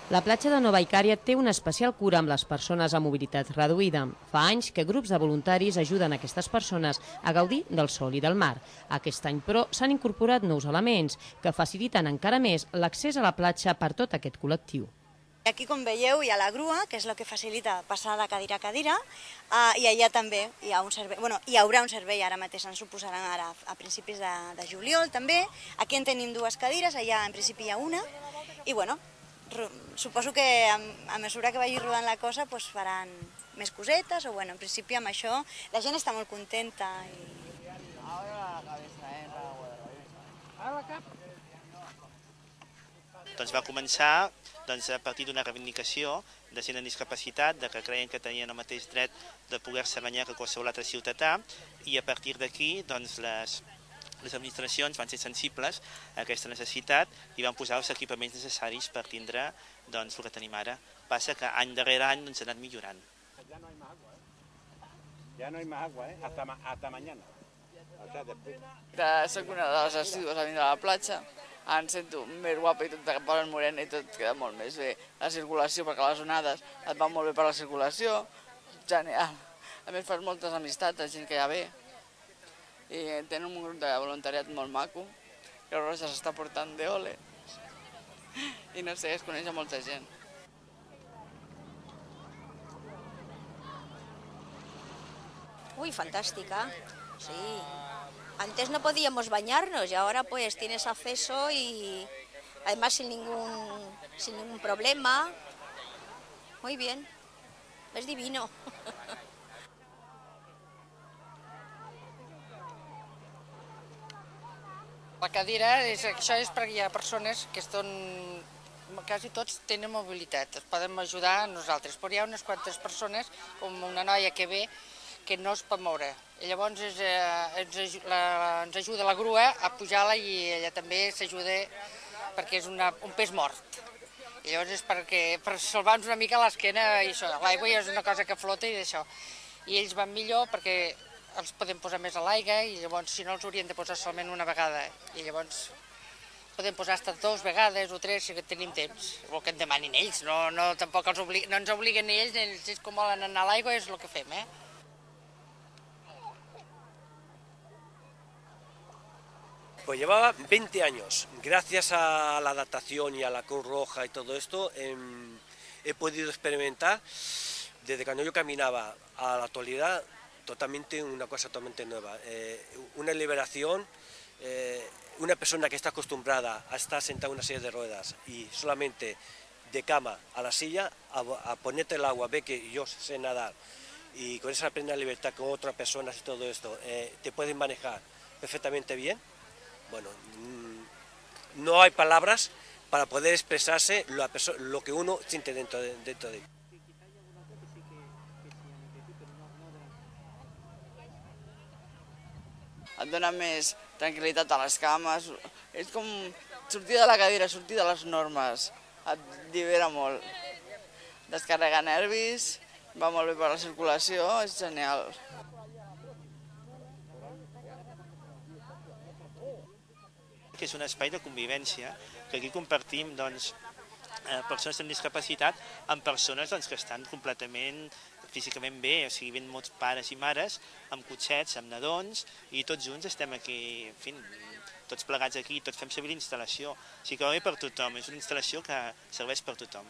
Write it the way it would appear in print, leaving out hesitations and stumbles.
La platja de Nova Icària té una especial cura amb les persones amb mobilitat reduïda. Fa anys que grups de voluntaris ajuden aquestes persones a gaudir del sol i del mar. Aquest any, però, s'han incorporat nous elements que faciliten encara més l'accés a la platja per tot aquest col·lectiu. Aquí, com veieu, hi ha la grua, que és el que facilita passar de cadira a cadira, i allà també hi ha un servei, hi haurà un servei, ara mateix ens ho posaran ara a principis de juliol també. Aquí en tenim dues cadires, allà en principi hi ha una, i suposo que a mesura que vagi rodant la cosa faran més cosetes, o en principi amb això la gent està molt contenta. Doncs va començar a partir d'una reivindicació de gent amb discapacitat, que creien que tenien el mateix dret de poder-se banyar que qualsevol altre ciutadà, i a partir d'aquí les administracions van ser sensibles a aquesta necessitat i van posar els equipaments necessaris per tindre el que tenim ara. Passa que any darrere any ha anat millorant. Ya no hay más agua, hasta mañana. Soc una de les assídues a vindre a la platja. Em sento més guapa i tot de polen morena i tot queda molt més bé. La circulació, perquè les onades et van molt bé per la circulació, genial. A més fas moltes amistats, la gent que hi ha bé. I tenen un grup de voluntariat molt maco, que Roja s'està portant d'ole. I no sé, es coneix a molta gent. Uy, fantástica, sí. Antes no podíamos bañarnos y ahora pues tienes acceso y además sin ningún problema. Muy bien, es divino. La cadira, això és perquè hi ha persones que quasi tots tenen mobilitat, es poden ajudar a nosaltres, però hi ha unes quantes persones, com una noia que ve, que no es pot moure. I llavors ens ajuda la grua a pujar-la i ella també s'ajuda perquè és un pes mort. I llavors és per salvar-nos una mica l'esquena i això. L'aigua és una cosa que flota i d'això. I ells van millor perquè els podem posar més a l'aigua i llavors si no els haurien de posar solament una vegada. I llavors podem posar fins 2 vegades o 3 si tenim temps. El que en demanin ells, tampoc no ens obliguen ells, ells com volen anar a l'aigua és el que fem, Pues llevaba 20 años. Gracias a la adaptación y a la Cruz Roja y todo esto, he podido experimentar, desde cuando yo caminaba a la actualidad, una cosa totalmente nueva. Una liberación, una persona que está acostumbrada a estar sentada en una silla de ruedas y solamente de cama a la silla, a ponerte el agua, ve que yo sé nadar y con esa plena libertad con otras personas y todo esto, te pueden manejar perfectamente bien. Bueno, no hay palabras para poder expresarse lo que uno siente dentro de él. Et dona més tranquil·litat a les cames, és com sortir de la cadira, sortir de les normes, et llibera molt. Descarrega nervis, va molt bé per la circulació, és genial. Que és un espai de convivència, que aquí compartim persones amb discapacitat amb persones que estan completament físicament bé, o sigui, ven molts pares i mares amb cotxets, amb nadons, i tots junts estem aquí, en fi, tots plegats aquí, tots fem servir l'instal·lació. O sigui que va bé per tothom, és una instal·lació que serveix per tothom.